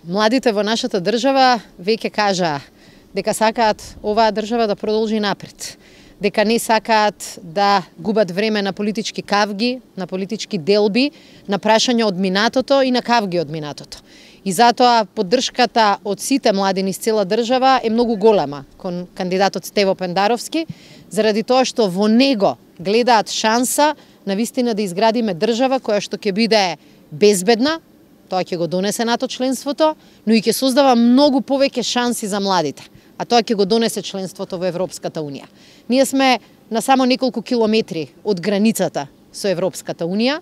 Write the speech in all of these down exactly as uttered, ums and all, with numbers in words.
Младите во нашата држава веќе кажаа дека сакаат оваа држава да продолжи напред, дека не сакаат да губат време на политички кавги, на политички делби, на прашања од минатото и на кавги од минатото. И затоа поддршката од сите млади низ цела држава е многу голема кон кандидатот Стево Пендаровски, заради тоа што во него гледаат шанса на вистина да изградиме држава која што ќе биде безбедна, тоа ќе го донесе НАТО членството, но и ќе создава многу повеќе шанси за младите, а тоа ќе го донесе членството во Европската Унија. Ние сме на само неколку километри од границата со Европската Унија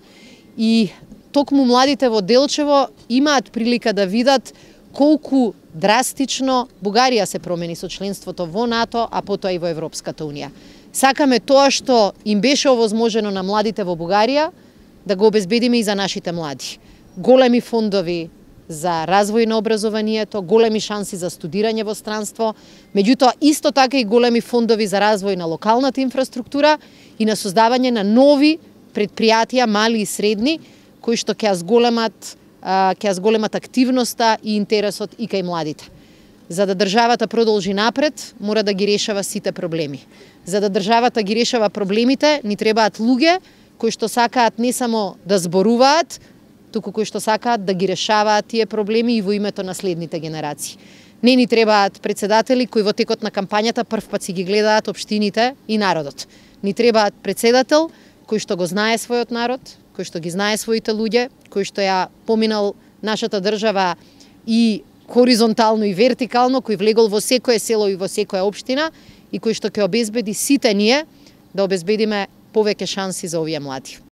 и токму младите во Делчево имаат прилика да видат колку драстично Бугарија се промени со членството во НАТО, а потоа и во Европската Унија. Сакаме тоа што им беше овозможено на младите во Бугарија да го обезбедиме и за нашите млади. Големи фондови за развој на образованието, големи шанси за студирање во странство, меѓутоа исто така и големи фондови за развој на локалната инфраструктура и на создавање на нови предпријатија, мали и средни, кои што ќе зголемат ќе зголемат активноста и интересот и кај младите. За да државата продолжи напред, мора да ги решава сите проблеми. За да државата ги решава проблемите, ни требаат луѓе кои што сакаат не само да зборуваат, туку кои што сакаат да ги решаваат тие проблеми и во името на следните генерации. Не ни требаат председатели кои во текот на кампањата прв пат си ги гледаат општините и народот. Ни требаат председател кој што го знае својот народ, кој што ги знае своите луѓе, кој што ја поминал нашата држава и хоризонтално и вертикално, кој влегол во секое село и во секоја општина и кој што ќе обезбеди сите ние да обезбедиме повеќе шанси за овие млади.